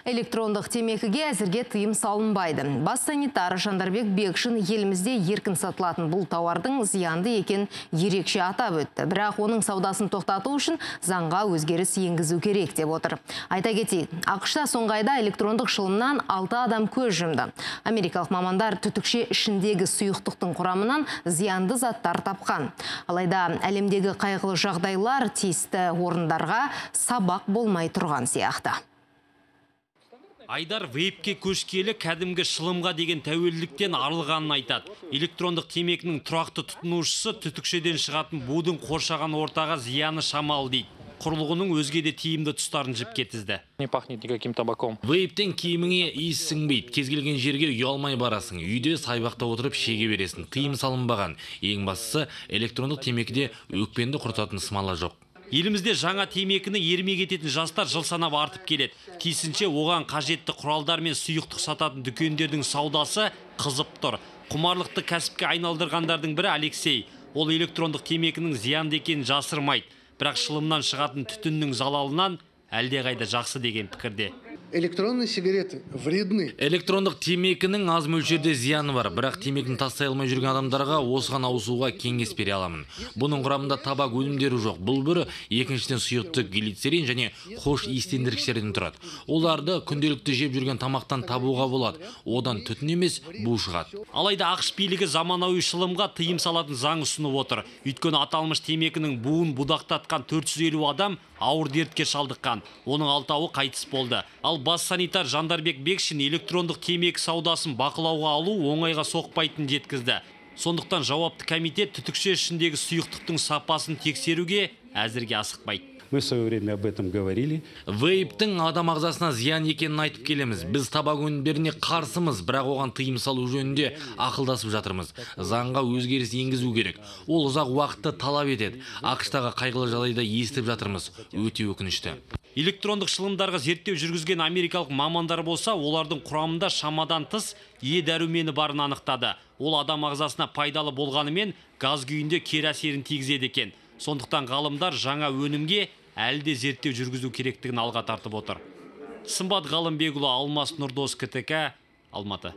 Электрондық темекіге әзірге тыйым салынбайды. Бас санитар Жандарбек Бекшин елімізде еркін сатылатын бұл тауардың зиянды екен ерекше атап өтті. Бірақ оның саудасын тоқтату үшін заңға өзгеріс енгізу керек деп отыр. Айта кетейік, ақш-та соңғы айда электрондық шылымнан 6 адам көз жұмды. Америкалық мамандар түтікше ішіндегі сұйықтықтың құрамынан зиянды заттар тапқан. Алайда әлемдегі қайғылы жағдайлар тиісті орындарға сабақ болмай тұрған сияқты. Айдар вейпке көшкелі кәдімгі шылымға деген тәуелділіктен арылғанын айтады. Электрондық темекінің тұрақты тұтынушысы түтікшеден шығатын будың қоршаған ортаға зияны шамалы дейді. Құрылғының өзге де тиімді тұстарын жіпке тізді. Не пахнет никаким табаком. Вейптен киіміңе иіс сіңбейді. Кез келген жерге ұялмай барасың. Үйде сайбақта отырып шеге бересің. Тыйым салынбаған. Ең бастысы электрондық темекіде өкпенді құртатын смола жоқ. Елімізде жаңа темекіні ермек ететін жастар жыл санап артып келеді. Тиісінше оған қажетті құралдар мен сұйықтық сататын дүкендердің саудасы қызып тұр. Құмарлықты кәсіпке айналдырғандардың бірі Алексей. Ол электрондық темекінің зиянды екенін жасырмайды. Бірақ шылымнан шығатын түтіннің залалынан әлдеқайда жақсы деген пікірде. Электронные сигареты вредны. Электрондық темекінің аз мөлшерде зияны бар, бірақ темекін тастай алмай жүрген адамдарға осыған ауысуға кеңес бере аламын. Бұның құрамында табак өнімдері жоқ. Бұл бірі екіншіден сұйықтық глицерин және хош иістендіргіштерден тұрады. Оларды күнделікті жеп жүрген тамақтан табуға болады. Одан түтін емес, бу шығады. Алайда ақш билігі заманауи шылымға тыйым салатын заң ұсынып отыр. Өйткені аталмыш темекінің буын будақтатқан 450 адам ауыр дертке шалдыққан. Оның 6-ы қайтыс болды. Ал бас санитар Жандарбек Бекшин электрондық темекі саудасын бақылауға алу оңайға соқпайтынын жеткізді. Сондықтан жауапты комитет түтікше ішіндегі сұйықтықтың сапасын тексеруге әзірге асықпайды. Мы в свое время об этом говорили. Вейптің адам ағзасына зиян екенін айтып келеміз. Біз табак өнімдеріне қарсымыз, бірақ оған тыйым салу жөнінде ақылдасып жатырмыз. Заңға өзгеріс енгізу керек. Ол ұзақ уақытты талап етеді. ақш-тағы қайғылы жағдайда естіп жатырмыз. Өте өкінішті. Электрондық шылымдарға зерттеу жүргізген америкалық мамандар болса, олардың құрамында шамадан тыс е дәрумені барын анықтады. Ол адам ағзасына пайдалы болғанымен газ күйінде кері әсерін тигізеді екен. Сондықтан ғалымдар жаңа өнімге әлде зерттеу жүргізу керектігін алға тартып отыр. Сымбат Ғалымбекұлы, Алмас Нұрдос, КТК, Алматы.